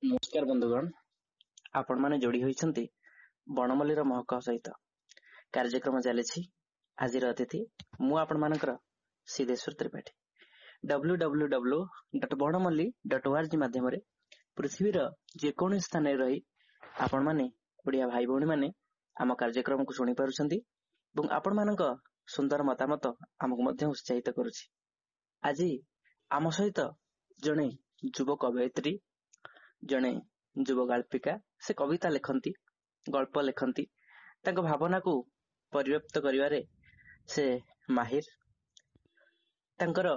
ନମସ୍କାର ବନ୍ଧୁଗଣ, ଆପଣମାନେ ଯୋଡି ହୋଇଛନ୍ତି ବଣମଲ୍ଲୀର ମହକ ସହିତ। କାର୍ଯ୍ୟକ୍ରମ ଚାଲିଛି ଆଜିର ଅତିଥି, ମୁଁ ଆପଣମାନଙ୍କର ସିଦ୍ଧେଶ୍ୱର ତ୍ରିପାଠୀ। www.banamalli.org ମାଧ୍ୟମରେ ପୃଥିବୀର ଯେକୌଣସି ସ୍ଥାନରେ ରହି ଆପଣମାନେ ଓଡ଼ିଆ ଭାଇ ଭଉଣୀମାନେ ଆମ କାର୍ଯ୍ୟକ୍ରମକୁ ଶୁଣି ପାରୁଛନ୍ତି ଏବଂ ଆପଣମାନଙ୍କ ସୁନ୍ଦର ମତାମତ ଆମକୁ ମଧ୍ୟ ଉତ୍ସାହିତ କରୁଛି। ଆଜି ଆମ ସହିତ ଜଣେ ଯୁବ କବୟିତ୍ରୀ, ଜଣେ ଯୁବ ଗାଳ୍ପିକା। ସେ କବିତା ଲେଖନ୍ତି, ଗଳ୍ପ ଲେଖନ୍ତି, ତାଙ୍କ ଭାବନାକୁ ପରିବ୍ୟକ୍ତ କରିବାରେ ସେ ମାହିର। ତାଙ୍କର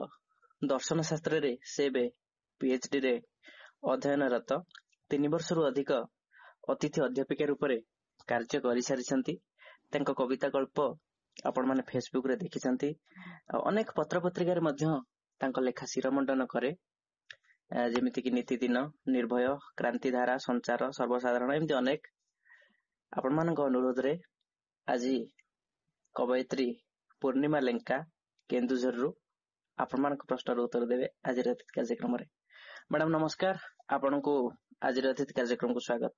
ଦର୍ଶନ ଶାସ୍ତ୍ରରେ ସେ ଏବେ ପିଏଚଡି ରେ ଅଧ୍ୟୟନରତ। 3 ବର୍ଷରୁ ଅଧିକ ଅତିଥି ଅଧ୍ୟାପିକା ରୂପରେ କାର୍ଯ୍ୟ କରିସାରିଛନ୍ତି। ତାଙ୍କ କବିତା, ଗଳ୍ପ ଆପଣମାନେ ଫେସବୁକ ରେ ଦେଖିଛନ୍ତି ଆଉ ଅନେକ ପତ୍ର ପତ୍ରିକାରେ ମଧ୍ୟ ତାଙ୍କ ଲେଖା ଶିରମଣ୍ଡନ କରେ, ଯେମିତିକି ନୀତିଦିନ, ନିର୍ଭୟ, କ୍ରାନ୍ତିଧାରା, ସଞ୍ଚାର, ସର୍ବସାଧାରଣ, ଏମିତି ଅନେକ। ଆପଣମାନଙ୍କ ଅନୁରୋଧରେ ଆଜି କବୟିତ୍ରୀ ପୂର୍ଣ୍ଣିମା ଲେଙ୍କା କେନ୍ଦୁଝରରୁ ଆପଣମାନଙ୍କ ପ୍ରଶ୍ନର ଉତ୍ତର ଦେବେ ଆଜିର ଅତିଥି କାର୍ଯ୍ୟକ୍ରମରେ। ମ୍ୟାଡାମ ନମସ୍କାର, ଆପଣଙ୍କୁ ଆଜିର ଅତିଥି କାର୍ଯ୍ୟକ୍ରମକୁ ସ୍ୱାଗତ।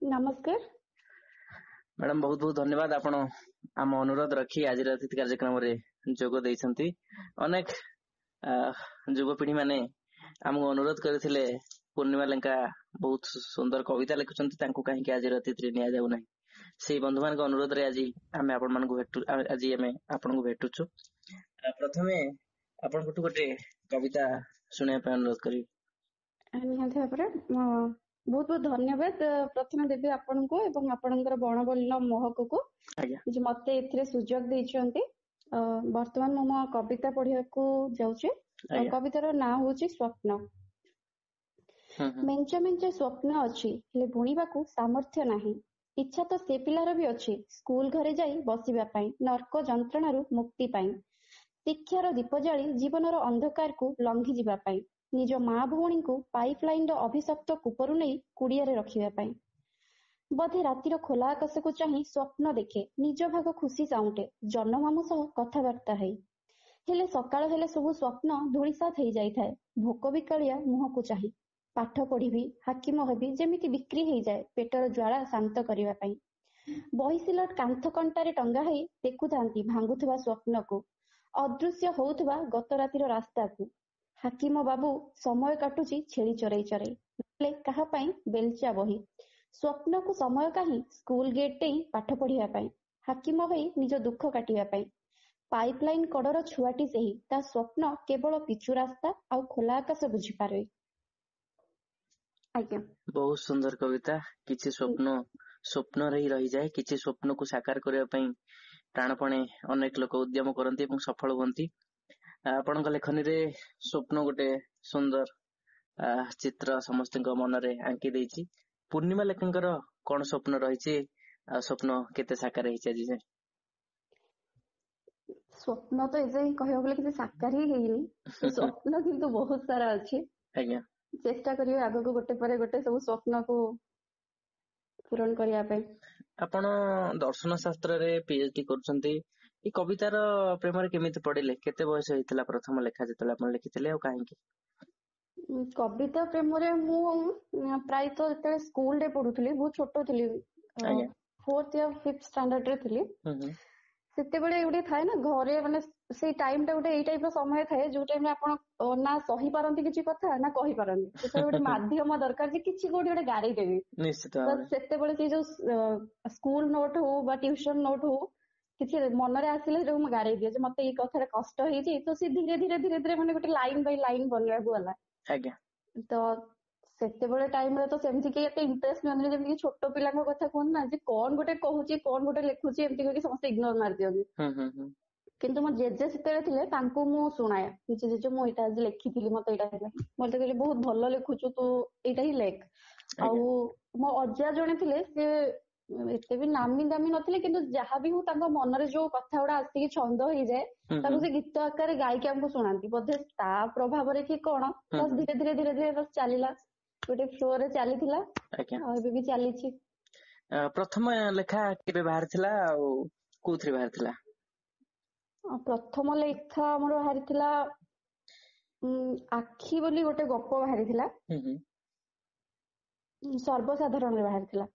ନମସ୍କାର ମ୍ୟାଡାମ, ବହୁତ ବହୁତ ଧନ୍ୟବାଦ, ଆପଣ ଆମ ଅନୁରୋଧ ରଖି ଆଜିର ଅତିଥି କାର୍ଯ୍ୟକ୍ରମରେ ଯୋଗ ଦେଇଛନ୍ତି। ଅନେକ ଯୁବପିଢି ମାନେ ଆମକୁ ଅନୁରୋଧ କରିଥିଲେ, ପୂର୍ଣ୍ଣିମା ଲେଙ୍କା ବହୁତ ସୁନ୍ଦର କବିତା ଲେଖୁଛନ୍ତି, ତାଙ୍କୁ କାହିଁକି ଆଜିର ଅତିଥିରେ ନିଆଯାଉ ନାହିଁ? ସେଇ ବନ୍ଧୁମାନଙ୍କ ଅନୁରୋଧରେ ଆଜି ଆମେ ଆପଣମାନଙ୍କୁ ଭେଟୁ ଆଜି ଆମେ ଆପଣଙ୍କୁ ଭେଟୁଛୁ। ପ୍ରଥମେ ଆପଣଙ୍କଠୁ ଗୋଟେ କବିତା ଶୁଣିବା ପାଇଁ ଅନୁରୋଧ କରିବି। ନିହାତି ଭାବରେ ବହୁତ ବହୁତ ଧନ୍ୟବାଦ ପ୍ରଥମେ ଦେବି ଆପଣଙ୍କୁ ଏବଂ ଆପଣଙ୍କର ବଣବଲ୍ଲୀର ମହକକୁ ଯେ ମତେ ଏଥିରେ ସୁଯୋଗ ଦେଇଛନ୍ତି। ବର୍ତ୍ତମାନ ମୁଁ ମୋ କବିତା ପଢିବାକୁ ଯାଉଛି। କବିତାର ନାଁ ହଉଛି ସ୍ୱପ୍ନ। ମେଞ୍ଚା ମେଞ୍ଚା ସ୍ୱପ୍ନ ଅଛି, ହେଲେ ବୁଣିବାକୁ ସାମର୍ଥ୍ୟ ନାହିଁ। ଇଚ୍ଛା ତ ସେ ପିଲାର ବି ଅଛି ସ୍କୁଲ ଘରେ ଯାଇ ବସିବା ପାଇଁ, ନର୍କ ଯନ୍ତ୍ରଣାରୁ ମୁକ୍ତି ପାଇଁ, ଶିକ୍ଷାର ଦୀପ ଜାଳି ଜୀବନର ଅନ୍ଧକାରକୁ ଲଙ୍ଘି ଯିବା ପାଇଁ, ନିଜ ମା ଭଉଣୀଙ୍କୁ ପାଇପ୍ ଲାଇନର ଅଭିଶପ୍ତ କୂପରୁ ନେଇ କୁଡିଆରେ ରଖିବା ପାଇଁ। ବୋଧେ ରାତିର ଖୋଲା ଆକାଶକୁ ଚାହିଁ ସ୍ୱପ୍ନ ଦେଖେ, ନିଜ ଭାଗ ଖୁସି ସାଉଁଟେ ଜହ୍ନମାମୁଁ ସହ କଥାବାର୍ତ୍ତା ହେଇ। ହେଲେ ସକାଳ ହେଲେ ସବୁ ସ୍ୱପ୍ନ ଧୂଳିସାତ ହେଇଯାଇଥାଏ ଭୋକ ବିକାଳିଆ ମୁହଁକୁ ଚାହିଁ। ପାଠ ପଢିବି, ହାକିମ ହେବି, ଯେମିତି ବିକ୍ରି ହେଇଯାଏ ପେଟର ଜ୍ୱାଳା ଶାନ୍ତ କରିବା ପାଇଁ। ବହି ସିଲଟ କାନ୍ଥ କଣ୍ଟାରେ ଟଙ୍ଗା ହେଇ ଦେଖୁଥାନ୍ତି ଭାଙ୍ଗୁଥିବା ସ୍ୱପ୍ନକୁ, ଅଦୃଶ୍ୟ ହଉଥିବା ଗତ ରାତିର ରାସ୍ତାକୁ। ହାକିମ ବାବୁ ସମୟ କାଟୁଛି ଛେଳି ଚରେଇ ଚରେଇ, ନହେଲେ କାହା ପାଇଁ ବେଲଚା ବହି। ସ୍ୱପ୍ନକୁ ସମୟ କାହିଁ ସ୍କୁଲ ଗେଟ୍ ଡେଇଁ ପାଠ ପଢିବା ପାଇଁ, ହାକିମ ହୋଇ ନିଜ ଦୁଃଖ କାଟିବା ପାଇଁ। ପାଇପ୍ ଲାଇନ କଡର ଛୁଆଟି ସେହି, ତା ସ୍ୱପ୍ନ କେବଳ ପିଚୁ ରାସ୍ତା ଆଉ ଖୋଲା ଆକାଶ ବୁଝିପାରେ। ଆଜ୍ଞା, ବହୁତ ସୁନ୍ଦର କବିତା। କିଛି ସ୍ୱପ୍ନ ସ୍ୱପ୍ନରେ ହିଁ ରହିଯାଏ, କିଛି ସ୍ୱପ୍ନକୁ ସାକାର କରିବା ପାଇଁ ପ୍ରାଣପଣେ ଅନେକ ଲୋକ ଉଦ୍ୟମ କରନ୍ତି ଏବଂ ସଫଳ ହୁଅନ୍ତି। ଆପଣଙ୍କ ଲେଖନୀରେ ସ୍ୱପ୍ନ ଗୋଟେ ସୁନ୍ଦର ଚିତ୍ର ସମସ୍ତଙ୍କ ମନରେ ଆଙ୍କି ଦେଇଛି। ପୂର୍ଣ୍ଣିମା ଲେଖାଙ୍କର କଣ ସ୍ୱପ୍ନ ରହିଛି ଆଉ ସ୍ୱପ୍ନ କେତେ ସାକାର ହେଇଛି ଆଜି ଯାଏଁ? ସ୍ୱପ୍ନ ତ ଏଯାଏଁ କହିବାକୁ ଗଲେ କିଛି ସାକାର ହିଁ ହେଇନି, ସ୍ୱପ୍ନ କିନ୍ତୁ ବହୁତ ସାରା ଅଛି। ଆଜ୍ଞା, ଚେଷ୍ଟା କରିବି ଆଗକୁ ଗୋଟେ ପରେ ଗୋଟେ ସବୁ ସ୍ୱପ୍ନକୁ ପୂରଣ କରିବା ପାଇଁ। ଆପଣ ଦର୍ଶନ ଶାସ୍ତ୍ରରେ ପିଏଚଡି କରୁଛନ୍ତି, ଏଇ କବିତାର ପ୍ରେମରେ କେମିତି ପଡିଲେ? କେତେ ବୟସ ହେଇଥିଲା ପ୍ରଥମ ଲେଖା ଯେତେବେଳେ ଆପଣ ଲେଖିଥିଲେ ଆଉ କାହିଁକି? କବିତା ପ୍ରେମରେ ମୁଁ ପ୍ରାୟତଃ ଯେତେବେଳେ ସ୍କୁଲରେ ପଢୁଥିଲି, ବହୁତ ଛୋଟ ଥିଲି, 4th ୟା 5th ଷ୍ଟାଣ୍ଡାର୍ଡ ରେ ଥିଲି। ସେତେବେଳେ ଗୋଟେ ଥାଏ ନା ଘରେ, ମାନେ ସେଇ ଟାଇମ ଟା ଗୋଟେ ଏଇ ଟାଇପ ର ସମୟ ଥାଏ ଯୋଉ ଟାଇମରେ ଆପଣ ନା ସହିପାରନ୍ତି କିଛି କଥା ନା କହିପାରନ୍ତି। ସେତେବେଳେ ଗୋଟେ ମାଧ୍ୟମ ଦରକାର ଯେ କିଛି କୋଉଠି ଗୋଟେ ଗାରେଇ ଦେବି। ନିଶ୍ଚିତ ତ ସେତେବେଳେ ସେଇ ଯୋଉ ସ୍କୁଲ ନୋଟ ହଉ ବା ଟ୍ୟୁସନ ନୋଟ ହଉ, କିଛି ମନରେ ଆସିଲେ ସେଟାକୁ ମୁଁ ଗାରେଇ ଦିଏ ଯେ ମତେ ଏଇ କଥାଟା କଷ୍ଟ ହେଇଛି। ତ ସେ ଧୀରେ ଧୀରେ ଧୀରେ ଧୀରେ ମାନେ ଗୋଟେ ଲାଇନ ବାଇ ଲାଇନ ବନିବାକୁ ଗଲା। ଆଜ୍ଞା, ତ ସେତେବେଳେ ଟାଇମରେ ତ ସେମିତି କେହି ଏତେ ଇଣ୍ଟରେଷ୍ଟ ନିଅନ୍ତିନି, ଯେମିତି ଛୋଟ ପିଲାଙ୍କ କଥା କୁହନ୍ତି ନା ଯେ କଣ ଗୋଟେ କହୁଛି କଣ ଗୋଟେ ଲେଖୁଛି, ଏମିତି କହିକି ସମସ୍ତେ ଇଗ୍ନୋର ମାରିଦିଅନ୍ତି। କିନ୍ତୁ ମୋ ଜେଜେ ସେତେବେଳେ ଥିଲେ, ତାଙ୍କୁ ମୁଁ ଶୁଣାଏ, ଜେଜେ ମୁଁ ଏଇଟା ଆଜି ଲେଖିଥିଲି, ମତେ ଏଇଟା ହେଲା। ମତେ କହିଲେ ବହୁତ ଭଲ ଲେଖୁଛୁ ତୁ, ଏଇଟା ହିଁ ଲେଖ। ଆଉ ମୋ ଅଜା ଜଣେ ଥିଲେ, ସେ ଏତେ ବି ନାମୀ ଦାମୀ ନଥିଲେ, କିନ୍ତୁ ଯାହା ବି ହଉ ତାଙ୍କ ମନରେ ଯୋଉ କଥା ଗୁଡା ଆସିକି ଛନ୍ଦ ହେଇଯାଏ ତାକୁ ସେ ଗୀତ ଆକାରରେ ଗାଇକି ଆମକୁ ଶୁଣାନ୍ତି। ବୋଧେ ତା ପ୍ରଭାବରେ କି କଣ, ଧୀରେ ଧୀରେ ଧୀରେ ଧୀରେ ବସ ଚାଲିଲା, ଗୋଟେ ଫ୍ଲୋ ରେ ଚାଲିଥିଲା ଆଉ ଏବେ ବି ଚାଲିଛି। ପ୍ରଥମ ଲେଖା କେବେ ବାହାରିଥିଲା ଆଉ କୋଉଥିରେ ବାହାରିଥିଲା? ପ୍ରଥମ ଲେଖା ଆମର ବାହାରିଥିଲା ଆଖି ବୋଲି ଗୋଟେ ଗପ ବାହାରିଥିଲା, ସର୍ବସାଧାରଣରେ ବାହାରିଥିଲା।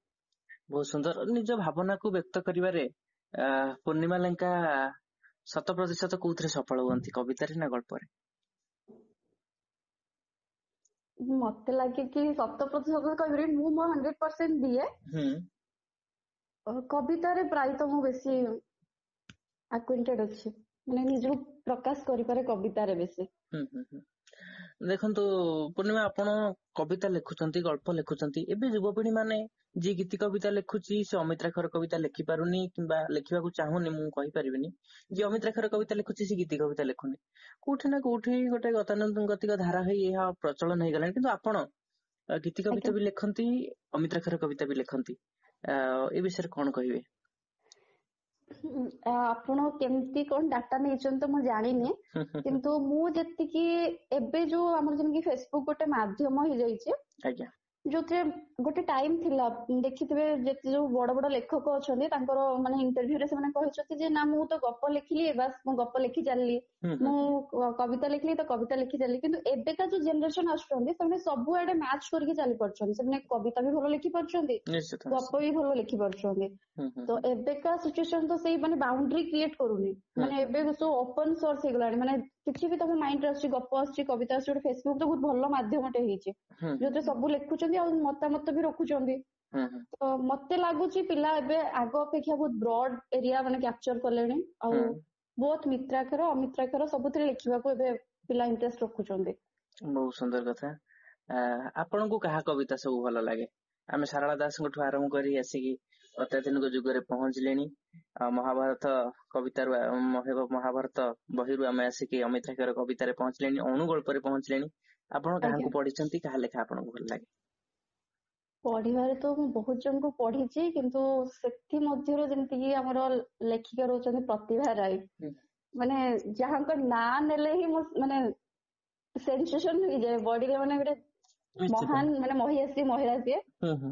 ବହୁତ ସୁନ୍ଦର। ନିଜ ଭାବନାକୁ ବ୍ୟକ୍ତ କରିବାରେ ପୂର୍ଣ୍ଣିମା ଲେଙ୍କା 100% କୋଉଥିରେ ସଫଳ ହୁଅନ୍ତି, କବିତାରେ ନା ଗଳ୍ପରେ? ମତେ ଲାଗେ କି 100% କହିପାରିବିନି, ମୁଁ ମୋ 100% ଦିଏ। କବିତାରେ ପ୍ରାୟତଃ ମୁଁ ବେଶୀ ଆକ୍ୱେଣ୍ଟେଡ ଅଛି, ମାନେ ନିଜକୁ ପ୍ରକାଶ କରିପାରେ କବିତାରେ ବେଶୀ। ଦେଖନ୍ତୁ ପୂର୍ଣ୍ଣିମା, ଆପଣ କବିତା ଲେଖୁଛନ୍ତି, ଗଳ୍ପ ଲେଖୁଛନ୍ତି। ଏବେ ଯୁବପିଢି ମାନେ ଯିଏ ଗୀତି କବିତା ଲେଖୁଛି ସେ ଅମିତ୍ରାକ୍ଷର କବିତା ଲେଖିପାରୁନି କିମ୍ବା ଲେଖିବାକୁ ଚାହୁଁନି, ମୁଁ କହିପାରିବିନି। ଯିଏ ଅମିତ୍ରାକ୍ଷର କବିତା ଲେଖୁଛି ସେ ଗୀତି କବିତା ଲେଖୁନି। କୋଉଠି ନା କୋଉଠି ଗୋଟେ ଗତାନୁଗତିକ ଧାରା ହେଇ ଏହା ପ୍ରଚଳନ ହେଇଗଲାଣି। କିନ୍ତୁ ଆପଣ ଗୀତି କବିତା ବି ଲେଖନ୍ତି, ଅମିତ୍ରାକ୍ଷର କବିତା ବି ଲେଖନ୍ତି, ଏ ବିଷୟରେ କଣ କହିବେ? ଆପଣ କେମିତି କଣ ଡାଟା ନେଇଛନ୍ତି ତ ମୁଁ ଜାଣିନି, କିନ୍ତୁ ମୁଁ ଯେତିକି ଏବେ ଯୋଉ ଆମର ଯେମିତି ଫେସବୁକ୍ ଗୋଟେ ମାଧ୍ୟମ ହେଇଯାଇଛି, ଯୋଉଥିରେ ଗୋଟେ ଟାଇମ ଥିଲା ଦେଖିଥିବେ ଯେତେ ଯୋଉ ବଡ ବଡ ଲେଖକ ଅଛନ୍ତି ତାଙ୍କର ମାନେ ଇଣ୍ଟରଭ୍ୟୁରେ ସେମାନେ କହିଛନ୍ତି ଯେ ନା ମୁଁ ତ ଗପ ଲେଖିଲି, ବାସ୍ ମୁଁ ଗପ ଲେଖି ଚାଲିଲି, ମୁଁ କବିତା ଲେଖିଲି ତ କବିତା ଲେଖି ଚାଲିଲି। କିନ୍ତୁ ଏବେକା ଯୋଉ ଜେନେରେସନ ଆସୁଛନ୍ତି ସେମାନେ ସବୁଆଡେ ମ୍ୟାଚ୍ କରିକି ଚାଲି ପାରୁଛନ୍ତି। ସେମାନେ କବିତା ବି ଭଲ ଲେଖି ପାରୁଛନ୍ତି, ଗପ ବି ଭଲ ଲେଖି ପାରୁଛନ୍ତି। ତ ଏବେକା ସିଚୁଏସନ ତ ସେଇ ମାନେ ବାଉଣ୍ଡ୍ରି କ୍ରିଏଟ କରୁନି, ମାନେ ଏବେ ସବୁ ଓପନ ସୋର୍ସ ହେଇଗଲାଣି। ମାନେ କିଛି ବି ତମ ମାଇଣ୍ଡରେ ଆସୁଛି, ଗପ ଆସୁଛି, କବିତା ଆସୁଛି, ଗୋଟେ ଫେସବୁକ୍ ତ ବହୁତ ଭଲ ମାଧ୍ୟମଟେ ହେଇଛି ଯୋଉଥିରେ ସବୁ ଲେଖୁଛନ୍ତି ଆଉ ମତାମତ ବି ରଖୁଛନ୍ତି। ତ ମତେ ଲାଗୁଛି ପିଲା ଏବେ ଆଗ ଅପେକ୍ଷା ବହୁତ ବ୍ରଡ ଏରିଆ ମାନେ କ୍ୟାପଚର କଲେଣି, ଆଉ ବହୁତ ମିତ୍ରାକ୍ଷର ଅମିତ୍ରାକ୍ଷର ସବୁଥିରେ ଲେଖିବାକୁ ଏବେ ପିଲା ଇଣ୍ଟରେଷ୍ଟ ରଖୁଛନ୍ତି। ବହୁତ ସୁନ୍ଦର କଥା। ଆପଣଙ୍କୁ କାହା କବିତା ସବୁ ଭଲ ଲାଗେ? ଆମେ ସାରଳା ଦାସଙ୍କଠୁ ଆରମ୍ଭ କରି ଆସିକି ଅତ୍ୟାଧୁନିକ ଯୁଗରେ ପହଞ୍ଚିଲେଣି। ମହାଭାରତ କବିତାରୁ, ମହାଭାରତ ବହିରୁ ଆମେ ଆସିକି ଅମିତ୍ରାକ୍ଷର କବିତାରେ ପହଞ୍ଚିଲେଣି, ଅଣୁ ଗଳ୍ପରେ ପହଞ୍ଚିଲେଣି। ଆପଣ କାହାକୁ ପଢିଛନ୍ତି, କାହା ଲେଖା ଆପଣଙ୍କୁ ଭଲ ଲାଗେ? ପଢିବାରେ ତ ମୁଁ ବହୁତ ଜଣଙ୍କୁ ପଢିଛି, କିନ୍ତୁ ସେଥିମଧ୍ୟରୁ ଯେମିତିକି ଆମର ଲେଖିକା ରହୁଛନ୍ତି ପ୍ରତିଭା ରାୟ, ମାନେ ଯାହାଙ୍କ ନାଁ ନେଲେ ହିଁ ମୁଁ ମାନେ ସେନ୍ସେସନ ହେଇଯାଏ ବଡିରେ, ମାନେ ଗୋଟେ ମହାନ ମାନେ ମହିଷୀ ମହିଳା ସିଏ,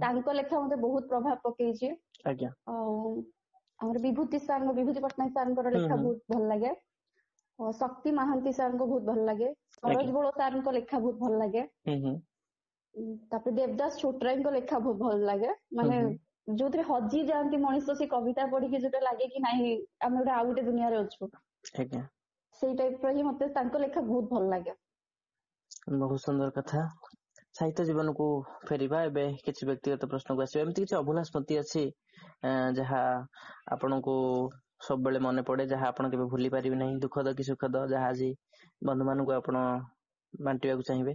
ତାଙ୍କ ଲେଖା ମତେ ବହୁତ ପ୍ରଭାବ ପକେଇଛି। ଆଉ ଆମର ବିଭୂତି ସାର୍, ବିଭୂତି ପଟ୍ଟନାୟକ ସାର୍ଙ୍କର ଲେଖା ବହୁତ ଭଲ ଲାଗେ, ଶକ୍ତି ମହାନ୍ତି ସାର୍ଙ୍କୁ ବହୁତ ଭଲ ଲାଗେ, ସରୋଜ ବୋଳ ସାର୍ଙ୍କ ଲେଖା ବହୁତ ଭଲ ଲାଗେ, ତାପରେ ଦେବଦାସ ଛୋଟରାୟଙ୍କ ଲେଖା ବହୁତ ଭଲ ଲାଗେ। ମାନେ ଯୋଉଥିରେ ହଜି ଯାଆନ୍ତି ମଣିଷ, ସେ କବିତା ପଢିକି ଯୋଉଟା ଲାଗେ କି ନାଇଁ ଆମେ ଗୋଟେ ଆଉ ଗୋଟେ ଦୁନିଆରେ ଅଛୁ, ସେଇ ଟାଇପ ର ହିଁ ମତେ ତାଙ୍କ ଲେଖା ବହୁତ ଭଲ ଲାଗେ। ବହୁତ ସୁନ୍ଦର କଥା। ସାହିତ୍ୟ ଜୀବନକୁ ଫେରିବା, ଏବେ କିଛି ବ୍ୟକ୍ତିଗତ ପ୍ରଶ୍ନକୁ ଆସିବା। ଏମିତି କିଛି ଅଭୁଲା ସ୍ମୃତି ଅଛି ଯାହା ଆପଣଙ୍କୁ ସବୁବେଳେ ମନେ ପଡେ, ଯାହା ଆପଣ କେବେ ଭୁଲି ପାରିବେ ନାହିଁ, ଦୁଃଖଦ କି ସୁଖଦ, ଯାହା ଆଜି ବନ୍ଧୁମାନଙ୍କୁ ଆପଣ ବାଣ୍ଟିବାକୁ ଚାହିଁବେ?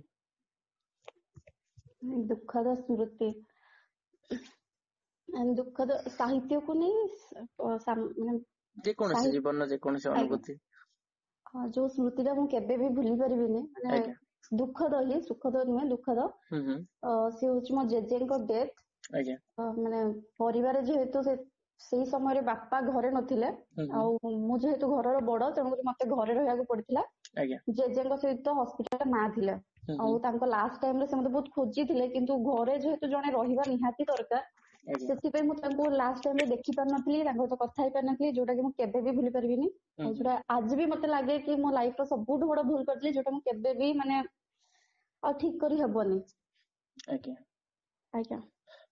ଦୁଃଖଦ ସ୍ମୃତି, ଦୁଃଖଦ ସାହିତ୍ୟକୁ ନେଇ, ଯେକୌଣସି ଜୀବନର ଯେକୌଣସି ଅନୁଭୂତି, ଯୋଉ ସ୍ମୃତିଟା ମୁଁ କେବେ ବି ଭୁଲି ପାରିବିନି, ମାନେ ଦୁଃଖଦ ହିଁ, ସୁଖଦ ନୁହେଁ, ଦୁଃଖଦ, ସେ ହଉଛି ମୋ ଜେଜେଙ୍କ ଡେଥ୍। ମାନେ ପରିବାର ଯେହେତୁ ସେଇ ସମୟରେ ବାପା ଘରେ ନଥିଲେ, ଆଉ ମୁଁ ଯେହେତୁ ଘରର ବଡ, ତେଣୁକରି ମତେ ଘରେ ରହିବାକୁ ପଡିଥିଲା। ଜେଜେଙ୍କ ସହିତ ହସ୍ପିଟାଲରେ ମା ଥିଲେ, ଆଉ ତାଙ୍କ ଲାଷ୍ଟ ଟାଇମରେ ସେ ମତେ ବହୁତ ଖୋଜିଥିଲେ, କିନ୍ତୁ ଘରେ ଯେହେତୁ ଜଣେ ରହିବା ନିହାତି ଦରକାର, ସେଥିପାଇଁ ମୁଁ ତାଙ୍କୁ ଲାଷ୍ଟ ଟାଇମରେ ଦେଖି ପାରିନଥିଲି, ତାଙ୍କ ସହିତ କଥା ହେଇପାରିନଥିଲି, ଯୋଉଟା କି ମୁଁ କେବେ ବି ଭୁଲି ପାରିବିନି। ଆଉ ଯୋଉଟା ଆଜି ବି ମତେ ଲାଗେ କି ମୋ ଲାଇଫ ର ସବୁଠୁ ବଡ ଭୁଲ କରିଥିଲି, ଯୋଉଟା ମୁଁ କେବେ ବି ମାନେ ଆଉ ଠିକ କରି ହବନି। ଆଜ୍ଞା।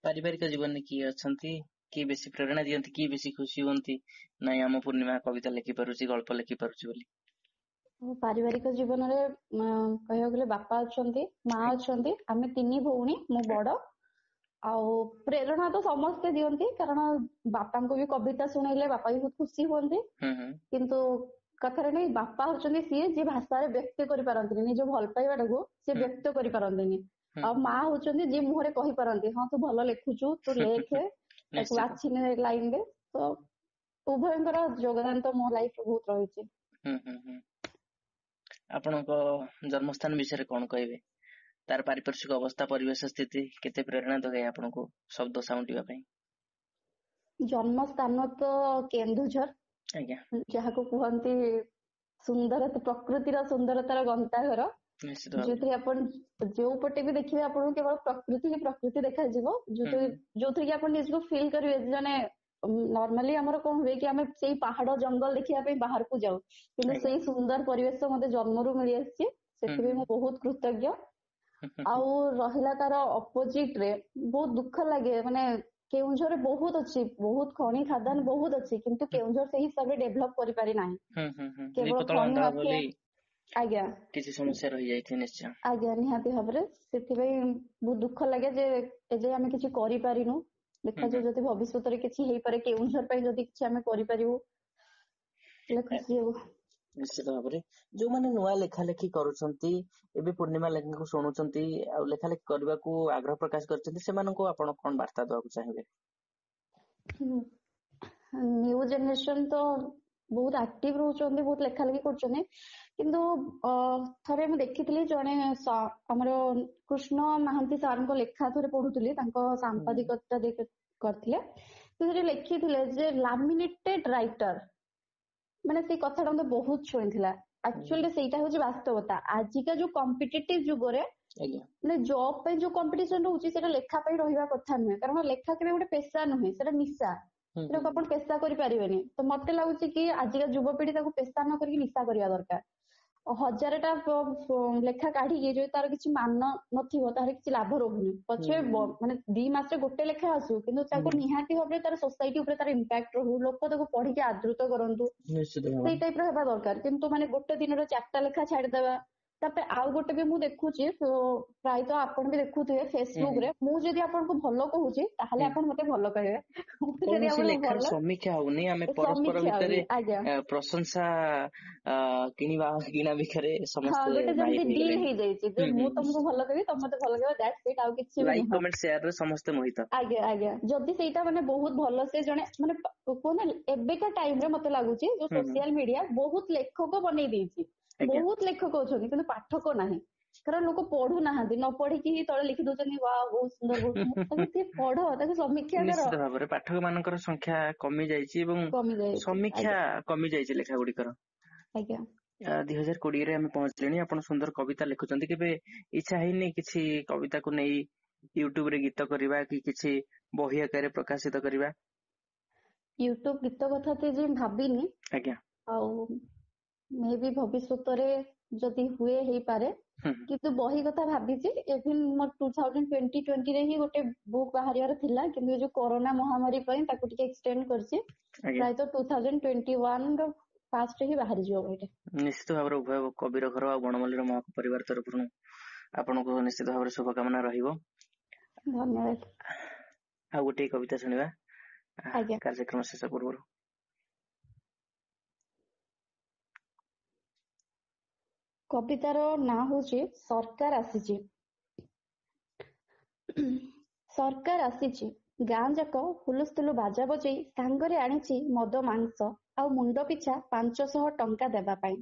ପାରିବାରିକ ଜୀବନରେ କିଏ ଅଛନ୍ତି, କିଏ ବେଶୀ ପ୍ରେରଣା ଦିଅନ୍ତି, କିଏ ବେଶୀ ଖୁସି ହୁଅନ୍ତି ନାଇଁ ଆମ ପୂର୍ଣ୍ଣିମା କବିତା ଲେଖିପାରୁଛି, ଗଳ୍ପ ଲେଖିପାରୁଛି ବୋଲି? ପାରିବାରିକ ଜୀବନରେ କହିବାକୁ ଗଲେ ବାପା ଅଛନ୍ତି, ମା ଅଛନ୍ତି, ଆମେ 3 ଭଉଣୀ, ମୁଁ ବଡ। ଆଉ ପ୍ରେରଣା ତ ସମସ୍ତେ ଦିଅନ୍ତି, କାରଣ ବାପାଙ୍କୁ ବି କବିତା ଶୁଣେଇଲେ ବାପା ବି ବହୁତ ଖୁସି ହୁଅନ୍ତି। କିନ୍ତୁ କଥାରେ ନାଇଁ, ବାପା ହଉଛନ୍ତି ସିଏ ଯିଏ ଭାଷାରେ ବ୍ୟକ୍ତ କରିପାରନ୍ତିନି ନିଜ ଭଲ ପାଇବାଟାକୁ, ସିଏ ବ୍ୟକ୍ତ କରିପାରନ୍ତିନି। ଆଉ ମା ହଉଛନ୍ତି ଯିଏ ମୁହଁରେ କହିପାରନ୍ତି, ହଁ ତୁ ଭଲ ଲେଖୁଛୁ, ତୁ ଲେଖେ, ତାକୁ ବାଛିନେ ଲାଇନରେ। ତ ଉଭୟଙ୍କର ଯୋଗଦାନ ତ ମୋ ଲାଇଫ ବହୁତ ରହିଛି। ଆପଣଙ୍କ ଜନ୍ମସ୍ଥାନ ବିଷୟରେ କଣ କହିବେ? ତାର ପାରିପାର୍ଶ୍ୱିକ ଅବସ୍ଥା, ପରିବେଶ ସ୍ଥିତି କେତେ ପ୍ରେରଣା ଯୋଗାଏ ଆପଣଙ୍କୁ ଶବ୍ଦ ସାଉଁଟିବା ପାଇଁ? ଜନ୍ମସ୍ଥାନ ତ କେନ୍ଦୁଝର, ଯାହାକୁ କୁହନ୍ତି ସୁନ୍ଦର ପ୍ରକୃତିର ସୁନ୍ଦରତାର ଗନ୍ତାଘର, ଯୋଉଥିରେ ଆପଣ ଯୋଉ ପଟେ ବି ଦେଖିବେ ଆପଣଙ୍କୁ କେବଳ ପ୍ରକୃତି ହିଁ ପ୍ରକୃତି ଦେଖାଯିବ, ଯୋଉଥିରେ କି ଆପଣ ନିଜକୁ ଫିଲ୍ କରିବେ। ଜଣେ ନର୍ମାଲି ଆମର କଣ ହୁଏ କି ଆମେ ସେଇ ପାହାଡ ଜଙ୍ଗଲ ଦେଖିବା ପାଇଁ ବାହାରକୁ ଯାଉ, କିନ୍ତୁ ସେଇ ସୁନ୍ଦର ପରିବେଶ ମତେ ଜନ୍ମରୁ ମିଳି ଆସିଛି। ସେଥିପାଇଁ ମୁଁ ବହୁତ କୃତଜ୍ଞ। ଆଉ ରହିଲା ତାର ଅପୋଜିଟ ରେ ବହୁତ ଦୁଃଖ ଲାଗେ, ମାନେ କେଉଁଝରରେ ବହୁତ ଅଛି, ବହୁତ ଖଣି ଖାଦାନ ବହୁତ ଅଛି, କିନ୍ତୁ କେଉଁଝର ସେଇ ହିସାବରେ ଡେଭଲପ କରିପାରି ନାହିଁ। କେବଳ ଖଣି ମାଫିଆ। ଆଜ୍ଞା, କିଛି ସମସ୍ୟା ରହିଯାଇଛି ନିଶ୍ଚୟ। ଆଜ୍ଞା, ନିହାତି ଭାବରେ। ସେଥିପାଇଁ ବହୁତ ଦୁଃଖ ଲାଗେ ଯେ ଏଯାଏ ଆମେ କିଛି କରିପାରିନୁ। ଦେଖାଯାଉ ଯଦି ଭବିଷ୍ୟତରେ କିଛି ହେଇପାରେ କେଉଁଝର ପାଇଁ, ଯଦି କିଛି ଆମେ କରିପାରିବୁ ହେଲେ ଖୁସି ହେବୁ। ନିଶ୍ଚିତ ଭାବରେ ଯୋଉମାନେ ନୂଆ ଲେଖାଲେଖି କରୁଛନ୍ତି, ଏବେ ପୂର୍ଣ୍ଣିମା ଲେଖାକୁ ଶୁଣୁଛନ୍ତି ଆଉ ଲେଖାଲେଖି କରିବାକୁ ଆଗ୍ରହ ପ୍ରକାଶ କରିଛନ୍ତି, ସେମାନଙ୍କୁ ଆପଣ କଣ ବାର୍ତ୍ତା ଦେବାକୁ ଚାହିଁବେ? ନ୍ୟୁ ଜେନେରେସନ ତ ବହୁତ ଆକ୍ଟିଭ ରହୁଛନ୍ତି, ବହୁତ ଲେଖାଲେଖି କରୁଛନ୍ତି, କିନ୍ତୁ ଥରେ ମୁଁ ଦେଖିଥିଲି ଜଣେ ଆମର କୃଷ୍ଣ ମହାନ୍ତି ସାରଙ୍କ ଲେଖା ଥରେ ପଢୁଥିଲି, ତାଙ୍କ ସାମ୍ବାଦିକତା କରିଥିଲେ, ସେଥିରେ ଲେଖିଥିଲେ ଯେ ଲାମିନେଟେଡ ରାଇଟର, ମାନେ ସେଇ କଥାଟା ମତେ ବହୁତ ଛୁଇଁଥିଲା। ଆକ୍ଚୁଆଲି ସେଇଟା ହଉଛି ବାସ୍ତବତା। ଆଜିକା ଯୋଉ କମ୍ପିଟେଟିଭ ଯୁଗରେ ମାନେ ଜବ୍ ପାଇଁ ଯୋଉ କମ୍ପିଟିସନ ରହୁଛି, ସେଟା ଲେଖା ପାଇଁ ରହିବା କଥା ନୁହେଁ, କାରଣ ଲେଖା କେବେ ଗୋଟେ ପେସା ନୁହେଁ, ସେଟା ନିଶା, ସେଟାକୁ ଆପଣ ପେସା କରିପାରିବେନି। ତ ମତେ ଲାଗୁଛି କି ଆଜିକା ଯୁବପିଢି ତାକୁ ପେସା ନ କରିକି ନିଶା କରିବା ଦରକାର। 1000ଟା ଲେଖା କାଢିକି ଯଦି ତାର କିଛି ମାନ ନଥିବ ତାହେଲେ କିଛି ଲାଭ ରହୁନି। ପଛେ ମାନେ 2 ମାସରେ ଗୋଟେ ଲେଖା ଆସୁ, କିନ୍ତୁ ତାକୁ ନିହାତି ଭାବରେ ତାର ସୋସାଇଟି ଉପରେ ତାର ଇମ୍ପାକ୍ଟ ରହୁ, ଲୋକ ତାକୁ ପଢିକି ଆଦୃତ କରନ୍ତୁ, ସେଇ ଟାଇପ ର ହେବା ଦରକାର। କିନ୍ତୁ ମାନେ ଗୋଟେ ଦିନରେ 4ଟା ଲେଖା ଛାଡିଦବା। ତାପରେ ଆଉ ଗୋଟେ ବି ମୁଁ ଦେଖୁଛି, ପ୍ରାୟତଃ ଆପଣ ବି ଦେଖୁଥିବେ ଫେସବୁକ ରେ, ମୁଁ ଯଦି ଆପଣଙ୍କୁ ଭଲ କହୁଛି ତାହେଲେ ଆପଣ ମତେ ଭଲ କହିବେ। ସମୀକ୍ଷା ହଉନି, ଆମେ ପରସ୍ପର ଭିତରେ ପ୍ରଶଂସା କିଣିବା କିଣା ବିକାରେ ସମସ୍ତେ ଗୋଟେ ଯେମିତି ଡିଲ୍ ହେଇଯାଇଛି ଯେ ମୁଁ ତମକୁ ଭଲ କହିବି, ତମେ ମତେ ଭଲ କହିବ, that's ଇଟ୍, ଆଉ କିଛି ବି ଲାଇକ୍ କମେଣ୍ଟ ସେୟାର ରେ ସମସ୍ତେ ମୋହିତ। ଆଜ୍ଞା ଆଜ୍ଞା, ଯଦି ସେଇଟା ମାନେ ବହୁତ ଭଲ ସେ ଜଣେ ମାନେ କୁହନ୍ତି, ଏବେକା ଟାଇମ ରେ ମତେ ଲାଗୁଛି ଯୋଉ ସୋସିଆଲ ମିଡିଆ ବହୁତ ଲେଖକ ବନେଇ ଦେଇଛି, ବହୁତ ଲେଖକ ଅଛନ୍ତି କିନ୍ତୁ ପାଠକ ନାହିଁ, କାରଣ ଲୋକ ପଢୁନାହାନ୍ତି, ନ ପଢିକି ହିଁ ତଳେ ଲେଖି ଦଉଛନ୍ତି ୱା ବହୁତ ସୁନ୍ଦର ବହୁତ। ତାକୁ ଟିକେ ପଢ, ତାକୁ ସମୀକ୍ଷା କର। ନିଶ୍ଚିତ ଭାବରେ ପାଠକ ମାନଙ୍କର ସଂଖ୍ୟା କମି ଯାଇଛି ଏବଂ ସମୀକ୍ଷା କମି ଯାଇଛି ଲେଖା ଗୁଡିକର। ଆଜ୍ଞା, 2020ରେ ଆମେ ପହଞ୍ଚିଲେଣି। ଆପଣ ସୁନ୍ଦର କବିତା ଲେଖୁଛନ୍ତି, କେବେ ଇଚ୍ଛା ହେଇନି କିଛି କବିତାକୁ ନେଇ ୟୁଟ୍ୟୁବ ରେ ଗୀତ କରିବା କି କିଛି ବହି ଆକାରରେ ପ୍ରକାଶିତ କରିବା? ୟୁଟ୍ୟୁବ ଗୀତ କଥା ତ ଯେ ଭାବିନି। ଆଜ୍ଞା, ଆଉ ମେ ବି ଭବିଷ୍ୟତରେ ଯଦି ହୁଏ ହେଇପାରେ, କିନ୍ତୁ ବହି କଥା ଭାବିଛି। ଇଭିନ୍ ମୋର 2020ରେ ହିଁ ଗୋଟେ ବୁକ୍ ବାହାରିବାର ଥିଲା, କିନ୍ତୁ ଯୋଉ କରୋନା ମହାମାରୀ ପାଇଁ ତାକୁ ଟିକେ ଏକ୍ସଟେଣ୍ଡ କରିଛି। ପ୍ରାୟତଃ 2021 ର ଫାଷ୍ଟ ହିଁ ବାହାରିଯିବ ବହିଟା। ନିଶ୍ଚିତ ଭାବରେ ଉଭୟ କବିର ଘର ଆଉ ବଣମଲ୍ଲୀର ମହକ ପରିବାର ତରଫରୁ ଆପଣଙ୍କୁ ନିଶ୍ଚିତ ଭାବରେ ଶୁଭକାମନା ରହିବ। ଧନ୍ୟବାଦ। ଆଉ ଗୋଟିଏ କବିତା ଶୁଣିବା କାର୍ଯ୍ୟକ୍ରମ ଶେଷ ପୂର୍ବରୁ। କବିତାର ନାଁ ହଉଛି ସରକାର ଆସିଛି। ସରକାର ଆସିଛି, ଗାଁ ଯାକ ହୁଲୁସ୍ତୁଲୁ ବାଜା ବଜେଇ ସାଙ୍ଗରେ ଆଣିଛି ମଦ ମାଂସ ଆଉ ମୁଣ୍ଡ ପିଛା 500 ଟଙ୍କା ଦେବା ପାଇଁ।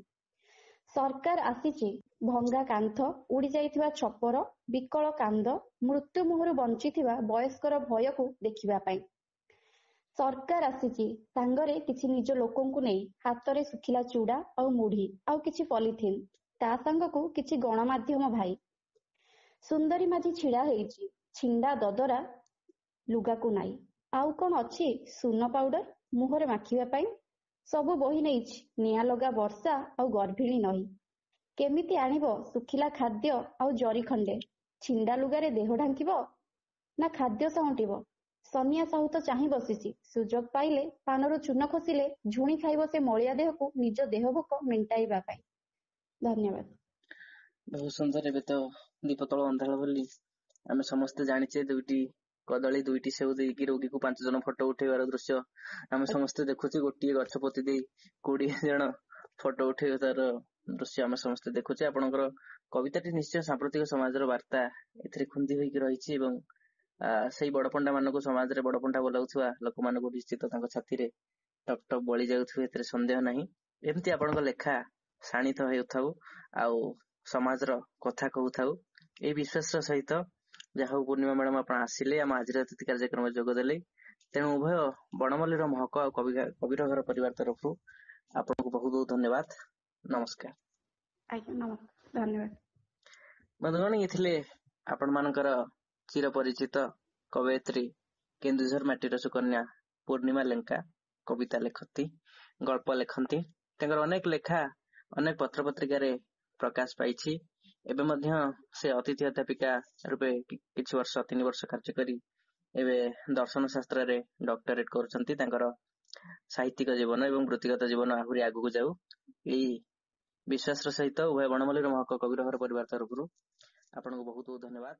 ସରକାର ଆସିଛି, ଭଙ୍ଗା କାନ୍ଥ, ଉଡି ଯାଇଥିବା ଛପର, ବିକଳ କାନ୍ଦ, ମୃତ୍ୟୁ ମୁହଁରୁ ବଞ୍ଚିଥିବା ବୟସ୍କର ଭୟକୁ ଦେଖିବା ପାଇଁ। ସରକାର ଆସିଛି ସାଙ୍ଗରେ କିଛି ନିଜ ଲୋକଙ୍କୁ ନେଇ, ହାତରେ ଶୁଖିଲା ଚୁଡା ଆଉ ମୁଢି ଆଉ କିଛି ପଲିଥିନ, ତା ସାଙ୍ଗକୁ କିଛି ଗଣମାଧ୍ୟମ ଭାଇ। ସୁନ୍ଦରୀ ମାଝି ଛିଡା ହେଇଛି ଛିଣ୍ଡା ଦଦରା ଲୁଗାକୁ ନାଇ, ଆଉ କଣ ଅଛି ସୁନ ପାଉଡର ମୁହଁରେ ମାଖିବା ପାଇଁ, ସବୁ ବହି ନେଇଛି ନିଆଁ ଲଗା ବର୍ଷା ଆଉ ଗର୍ଭିଣୀ ନଈ। କେମିତି ଆଣିବ ଶୁଖିଲା ଖାଦ୍ୟ ଆଉ ଜରି ଖଣ୍ଡେ, ଛିଣ୍ଡା ଲୁଗାରେ ଦେହ ଢାଙ୍କିବ ନା ଖାଦ୍ୟ ସାଉଁଟିବ? ସନିଆ ସାହୁ ତ ଚାହିଁ ବସିଛି, ସୁଯୋଗ ପାଇଲେ ପାନରୁ ଚୂନ ଖସିଲେ ଝୁଣି ଖାଇବ ସେ ମଳିଆ ଦେହକୁ ନିଜ ଦେହ ଭୋକ ମେଣ୍ଟାଇବା ପାଇଁ। ଧନ୍ୟବାଦ। ବହୁତ ସୁନ୍ଦର। ଏବେ ତ ଦୀପତଳ ଅନ୍ଧାର ବୋଲି ଆମେ ସମସ୍ତେ ଜାଣିଛେ, 2ଟି କଦଳୀ 2ଟି ସେଉ ଦେଇକି ରୋଗୀକୁ 5 ଜଣ ଫଟୋ ଉଠେଇବାର ଦୃଶ୍ୟ ଆମେ ସମସ୍ତେ ଦେଖୁଛେ। ଗୋଟିଏ ଗଛ ପୋତି ଦେଇ 20 ଜଣ ଫଟୋ ଉଠେଇବାର ଦୃଶ୍ୟ ଆମେ ସମସ୍ତେ ଦେଖୁଛେ। ଆପଣଙ୍କର କବିତାଟି ନିଶ୍ଚୟ ସାମ୍ପ୍ରତିକ ସମାଜର ବାର୍ତ୍ତା ଏଥିରେ ଖୁନ୍ଦି ହୋଇକି ରହିଛି ଏବଂ ସେଇ ବଡ ପଣ୍ଡା ମାନଙ୍କୁ, ସମାଜରେ ବଡ ପଣ୍ଡା ବୋଲାଉଥିବା ଲୋକମାନଙ୍କୁ ନିଶ୍ଚିତ ତାଙ୍କ ଛାତିରେ ଟକ୍ ଟକ୍ ବଳି ଯାଉଥିବ, ଏଥିରେ ସନ୍ଦେହ ନାହିଁ। ଏମିତି ଆପଣଙ୍କ ଲେଖା ଶାଣିତ ହେଉଥାଉ ଆଉ ସମାଜର କଥା କହୁଥାଉ, ଏଇ ବିଶ୍ୱାସର ସହିତ। ଯାହା ହଉ ପୂର୍ଣ୍ଣିମା ମ୍ୟାଡାମ, ଆପଣ ଆସିଲେ, ଆମ ଆଜିର ଅତିଥି କାର୍ଯ୍ୟକ୍ରମରେ ଯୋଗ ଦେଲେ। ତେଣୁ ଉଭୟ ବଣମଲ୍ଲୀର ମହକ ଆଉ କବିର ଘର ପରିବାର ତରଫରୁ ଆପଣଙ୍କୁ ବହୁତ ବହୁତ ଧନ୍ୟବାଦ। ନମସ୍କାର। ଆଜ୍ଞା, ନମସ୍କାର, ଧନ୍ୟବାଦ। ବନ୍ଧୁଗଣ, ଇଏ ଥିଲେ ଆପଣ ମାନଙ୍କର ଚିର ପରିଚିତ କବୟିତ୍ରୀ କେନ୍ଦୁଝର ମାଟିର ସୁକନ୍ୟା ପୂର୍ଣ୍ଣିମା ଲେଙ୍କା। କବିତା ଲେଖନ୍ତି, ଗଳ୍ପ ଲେଖନ୍ତି। ତାଙ୍କର ଅନେକ ଲେଖା ଅନେକ ପତ୍ର ପତ୍ରିକାରେ ପ୍ରକାଶ ପାଇଛି। ଏବେ ମଧ୍ୟ ସେ ଅତିଥି ଅଧ୍ୟାପିକା ରୂପେ କିଛି ବର୍ଷ, 3 ବର୍ଷ କାର୍ଯ୍ୟ କରି ଏବେ ଦର୍ଶନ ଶାସ୍ତ୍ରରେ ଡକ୍ଟରେଟ କରୁଛନ୍ତି। ତାଙ୍କର ସାହିତ୍ୟିକ ଜୀବନ ଏବଂ ବୃତ୍ତିଗତ ଜୀବନ ଆହୁରି ଆଗକୁ ଯାଉ, ଏଇ ବିଶ୍ୱାସର ସହିତ ଉଭୟ ବଣମଲ୍ଲୀର ମହକ କବିର ଘର ପରିବାର ତରଫରୁ ଆପଣଙ୍କୁ ବହୁତ ବହୁତ ଧନ୍ୟବାଦ।